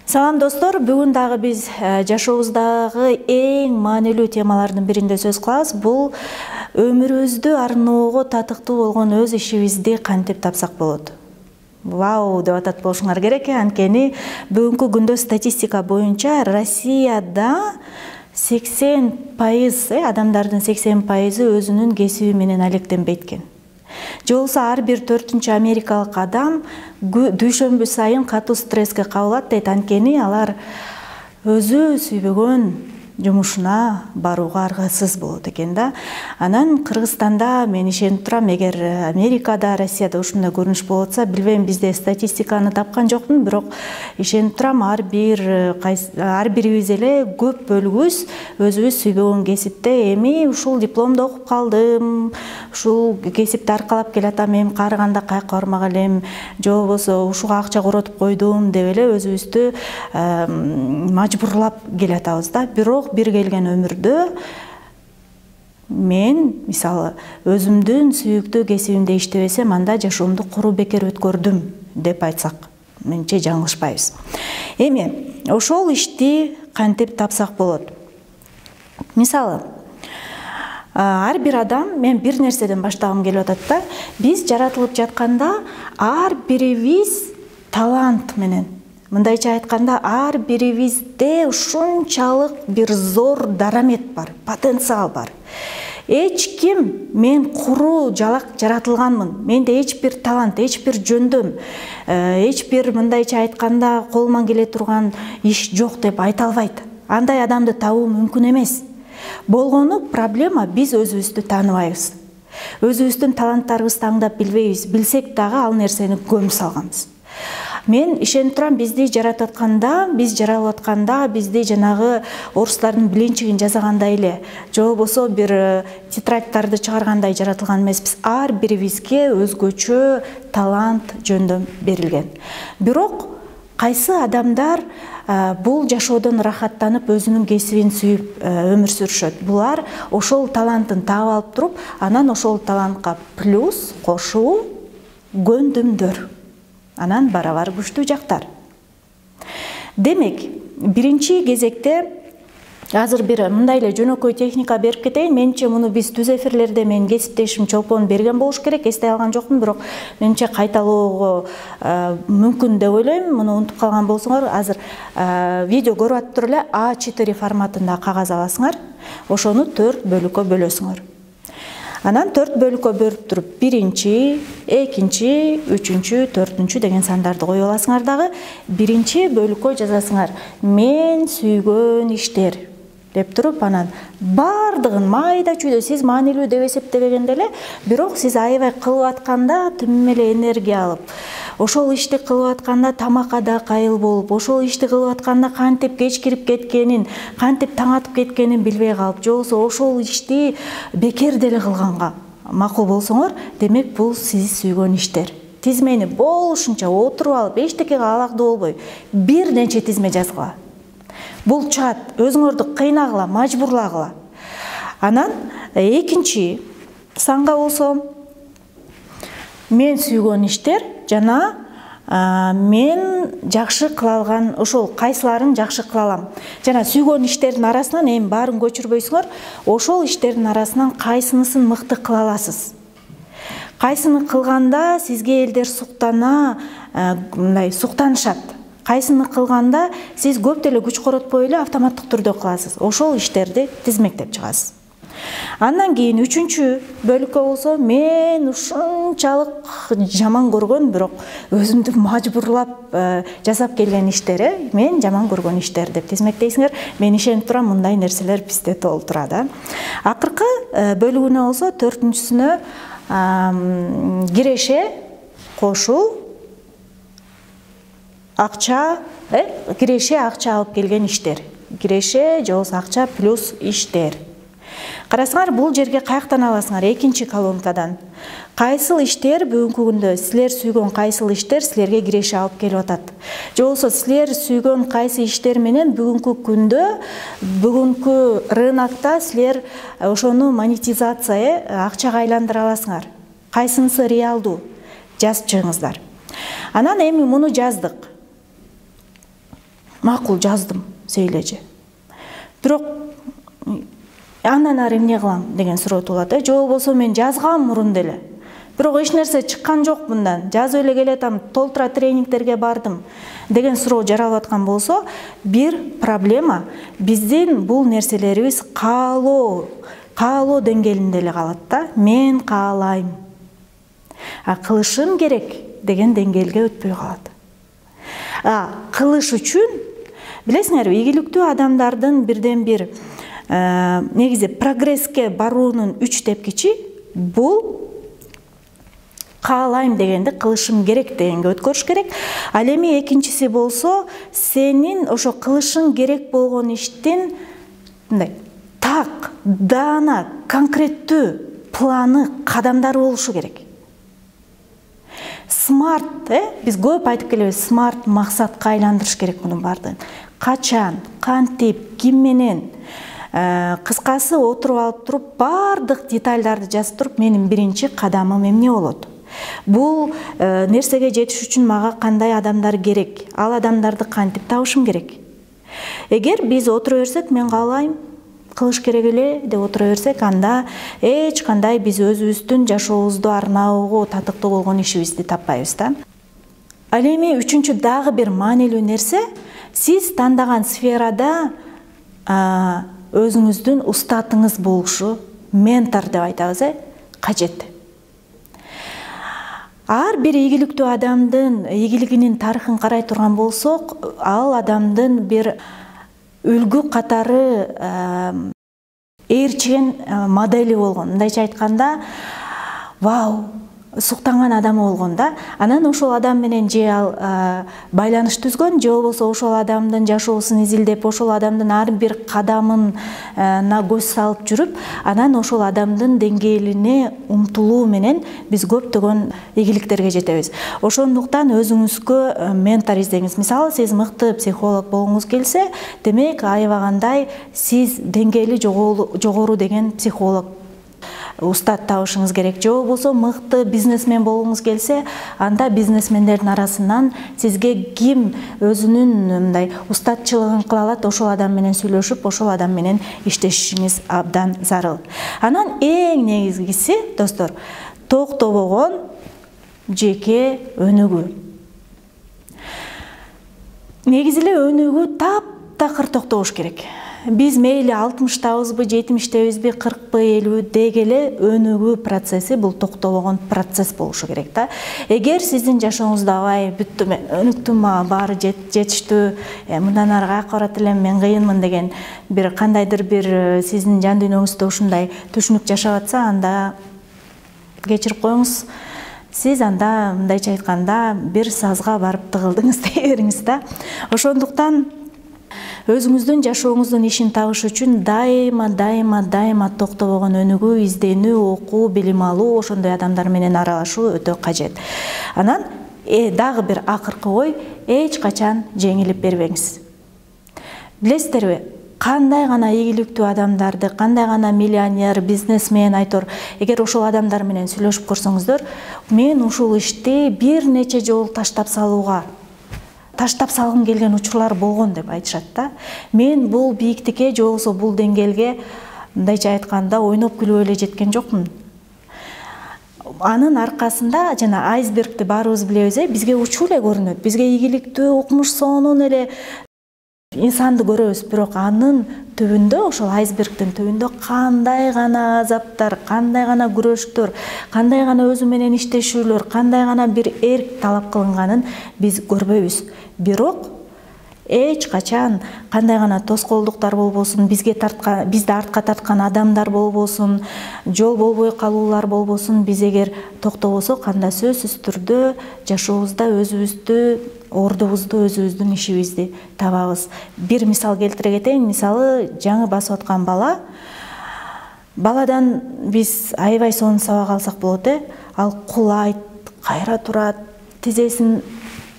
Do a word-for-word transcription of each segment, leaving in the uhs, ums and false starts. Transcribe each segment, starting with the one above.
Салам достор, бүгүн дагы биз жашообуздагы эң маанилүү темалардын биринде сөз кылабыз. Бул өмүрүбүздү арноого татыктуу болгон өз ишибизди кантип тапсак болот. Вау деп атат болушуңар керек. Анткени бүгүнкү күндө статистика боюнча Россияда сексен пайыз адамдардын сексен пайызы өзүнүн кесиби менен алектенбейт экен. Же болбосо ар бир төртүнчү америкалык адам дүйшөмбү сайын катуу стресске кабылат дейт. Анткени алар өзү сүйбөгөн жумушуна барууга аргасыз болот экен да. Анан Кыргызстанда мен ишенип турам, эгер Америкада, Россияда ушундай көрүнүш болуп атса, билбейм, бизде статистиканы тапкан жокмун, бирок ишенип турам, ар бир ар бирибиз эле көп бөлүгүбүз өзүбүз сүйбөгөн кесипте эми ушул дипломду окуп калдым, ушул кесипти аркалап келатам, эми каарыганда каяка бармак элем, же болбосо ушуга акча коротуп койдум деп эле өзүбүздү мажбурлап келатабыз да. Бирок бир келген өмүрдө мен мисалы өзүмдүн сүйүктүү кесибимде иштебесем, анда жашоомду куру бекер өткөрдүм деп айтсак, менимче жаңылышпайбыз. Эми ошол ишти кантип тапсак болот? Мисалы, ар бир адам, мен бир нерседен баштагым келип атат да, биз жаратылып жатканда ар бирибиз талант менен, мындайча айтканда, ар бирибизде ушунчалык бир зор дарамет бар, потенциал бар. Эч ким мен куру жалак жаратылганмын, менде эч бир талант, эч бир жөндөм, эч бир мындайча айтканда колуман келе турган иш жок деп айта албайт. Андай адамды табуу мүмкүн эмес. Болгону проблема биз өзүбүздү тааныбайбыз. Өзүбүздүн таланттарыбызды аңдап билбейбиз, билсек дагы ал нерсени көмүп салганбыз. Мен ишенип турам, бизди жаратып атканда, биз жаралып атканда, бизди жанагы орустардын билинчигин жасагандай эле, же болбосо бир тетрадьтарды чыгаргандай жаратылган эмеспиз. Ар бирибизге өзгөчө талант, жөндөм берилген. Бирок кайсы адамдар бул жашоодон рахаттанып, өзүнүн кесибин сүйүп өмүр сүрүшөт. Булар ошол талантын таап алып туруп, анан ошол талантка плюс кошуу көндүмдөр. Анан барабар күчтүү жактар. Демек, биринчи кезекте азыр бир мындай эле жөнөкөй техника берип кетейин. Менимче муну биз түз эфирлерде менин кесиптешим Чолпон берген болуш керек, эстей алган жокмун, бирок менимче кайталоого мүмкүн деп ойлойм. Муну унутуп калган болсоңор, азыр видео көрүп атып эле а четыре форматында кагаз аласыңар, ошону төрт бөлүккө бөлөсүңөр. Анан төрт бөлүккө бөлүп туруп, биринчи, экинчи, үчүнчү, төртүнчү деген сандарды коюп аласыңар дагы. Биринчи бөлүккө жазасыңар мен сүйгөн иштер деп туруп, анан бардыгын майда чүйдө сиз маанилүү деп эсептебегенде эле, бирок сиз аябай кылып атканда тим эле энергия алып, ошол ишти кылып атканда тамакка кайыл болуп, ошол ишти кылып атканда кантип кеч кирип кеткенин, кантип таң атып кеткенин билбей калып, же болбосо ошол ишти бекер деле кылганга макул болсоңор, демек бул сиз сүйгөн иштер. Тизмени болушунча отуруп алып, эчтекеге алагдуу болбой, бир нече тизме жазгыла. Бул чат, өзүңөрдү кыйнагыла, мажбурлагыла. Анан экинчи санга болсо, мен сүйгөн иштер жана мен жакшы кыла алган, ошол кайсыларын жакшы кыла алам. Жана сүйгөн иштердин арасынан, эми баарын көчүрбөйсүңөр, ошол иштердин арасынан кайсынысын мыкты кыла аласыз. Кайсыны кылганда сизге элдер суктана, мындай суктанышат. Кайсыны кылганда сиз көп деле күч коротпой эле автоматтык түрдө кыласыз. Ошол иштерди тизмектеп чыгасыз. Андан кийин үчүнчү бөлүккө болсо, мен ушунчалык жаман көргөн, бирок өзүмдү мажбурлап жасап келген иштер, мен жаман көргөн иштер деп тизмектейсиңер. Мен ишенип турам, мындай нерселер бизде толуп турат. Акыркы бөлүгүнө болсо, төртүнчүсүнө киреше, кошуу, акча, киреше, акча алып келген иштер. Киреше же болбосо акча плюс иштер. Карасаңар, бул жерге каяктан аласыңар? Экинчи колонкадан. Кайсыл иштер бүгүнкү күндө силер сүйгөн кайсыл иштер силерге киреше алып келип атат? Же болбосо силер сүйгөн кайсы иштер менен бүгүнкү күндө, бүгүнкү рынокто силер ошону монетизация, акчага айландыра аласыңар? Кайсынысы реалдуу? Жазып чыгыңыздар. Анан эми муну жаздык. макул жаздым сейлеже. Бирок андан ары эмне кылам деген суроо туулат. Же болбосо мен жазгам мурун деле. Бирок эч нерсе чыккан жок мындан. Жазып эле келатам, толтура тренингтерге бардым деген суроо жаралып аткан болсо, бир проблема биздин бул нерселерибиз каалоо, каалоо деңгээлинде эле калат да. Мен каалайм. А кылышым керек деген деңгээлге өтпөй калат. А кылыш үчүн билесиңерби, ийгиликтүү адамдардын бирден бир негизи прогресске баруунун үч тепкичи бул каалайм дегенди кылышым керек дегенге өткөрүш керек. Ал эми экинчиси болсо, сенин ошо кылышың керек болгон иштин мындай так, даана, конкреттүү планы, кадамдары болушу керек. Смарт, э, биз көп айтып келебиз, смарт максатка айландырыш керек мунун баардыгын. Качан, кантип, ким менен, кыскасы отуруп алып туруп, баардык детальдарды жазып туруп, менин биринчи кадамым эмне болот? Бул нерсеге жетиш үчүн мага кандай адамдар керек? Ал адамдарды кантип табышым керек? Эгер биз отура берсек, мен каалайм, кылыш керек эле деп отура берсек, анда эч кандай биз өзүбүздүн жашообузду арнабуу, татыктуу болгон ишибизди таппайбыз да. Ал эми үчүнчү дагы бир маанилүү нерсе, сиз тандаган сферада өзүңүздүн устатыңыз болушу, ментор деп айтабыз, э, кажет. Ар бир ийгиликтүү адамдын ийгилигинин тарыхын карай турган болсок, ал адамдын бир үлгү катары ээрчиген модели болгон. Мындайча айтканда, вау, суктанган адамы болгон да. Анан ошол адам менен же ал байланыш түзгөн, же болбосо ошол адамдын жашоосун изилдеп, ошол адамдын ар бир кадамына көз салып жүрүп, анан ошол адамдын деңгээлине умтулуу менен биз көптөгөн ийгиликтерге жетебиз. Ошондуктан өзүңүзгө ментор издеңиз. Мисалы, сиз мыкты психолог болгуңуз келсе, демек аябагандай сиз деңгээли жогору деген психолог, устат табышыңыз керек. Же болбосо мыкты бизнесмен болгуңуз келсе, анда бизнесмендердин арасынан сизге ким өзүнүн мындай устатчылыгын кыла алат, ошол адам менен сүйлөшүп, ошол адам менен иштешиңиз абдан зарыл. Анан эң негизгиси, достор, токтобогон жеке өнүгүү. Негизи эле өнүгүү таптакыр токтобош керек. Биз мейли алтымыштабызбы, жетимиштебизби, кыркпы, элүүбү деги эле өнүгүү процесси бул токтобогон процесс болушу керек да. Эгер сиздин жашооңузда абай бүттү, мен өнүктүм, мага баары жетиштүү, мындан ары каяка барат элем, мен кыйынмын деген бир кандайдыр бир сиздин жан дүйнөңүздө ушундай түшүнүк жашап атса, анда кечирип коюңуз. Сиз анда мындайча айтканда бир сазга барып тыгылдыңыз дей бериңиз да. Ошондуктан өзүңүздүн жашооңуздун ишин табыш үчүн дайыма, дайыма, дайыма токтобогон өнүгүү, изденүү, окуу, билим алуу, ошондой адамдар менен аралашуу өтө кажет. Анан э, дагы бир акыркы ой, эч качан жеңилип бербеңиз. Билесиздерби, кандай гана ийгиликтүү адамдарды, кандай гана миллионер, бизнесмен айтор, эгер ошол адамдар менен сүйлөшүп көрсөңүздөр, мен ушул ишти бир нече жолу таштап салууга таштап салгым келген учурлар болгон деп айтышат да. Мен бул бийиктикке, же болбосо бул деңгээлге мындайча айтканда ойноп күлүп эле жеткен жокмун. Анын аркасында жана айсбергти баарыбыз билебиз, э, бизге учуу эле көрүнөт. Бизге ийгиликтүү, укмуш сонун эле инсанды көрөбүз, бирок анын түбүндө, ошол айсбергдин түбүндө кандай гана азаптар, кандай гана күрөштөр, кандай гана өзү менен иштешүүлөр, кандай гана бир эрк талап кылынганын биз көрбөйбүз. Бирок эч качан кандай гана тоскоолдуктар болбосун, бизге тарткан, бизди артка тарткан адамдар болбосун, жол болбой калуулар болбосун, биз эгер токтобосок, анда сөзсүз түрдө жашообузда өзүбүздү, ордубузду, өзүбүздүн ишибизди табабыз. Бир мисал келтире кетейин. Мисалы, жаңы басып аткан бала, баладан биз аябай сонун сабак алсак болот, э. Ал кулайт, кайра турат, тизесин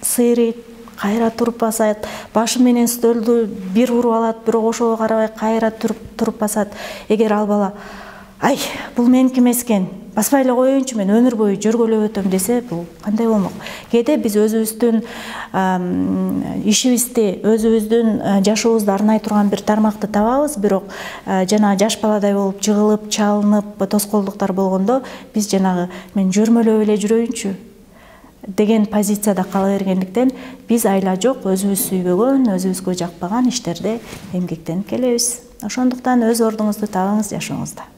сыйрыйт, кайра туруп басат, башы менен стөлдү бир уруп алат, бирок ошого карабай кайра туруп туруп басат. Эгер ал бала ай бул меники эмес экен, баспай эле коеюнчу, мен өмүр бою жөргөлөп өтөм десе, бул кандай болмок? Кээде биз өзүбүздүн ишибизди, өзүбүздүн жашообузду арнай турган бир тармакты табабыз, бирок жана жаш баладай болуп жыгылып, чалынып, тоскоолдуктар болгондо биз жанагы мен жөрмөлөп эле жүрөйүнчү деген позицияда кала бергендиктен биз айла жок өзүбүз сүйбөгөн, өзүбүзгө жакпаган иштерде эмгектенип келебиз. Ошондуктан өз ордуңузду табыңыз жашооңузда.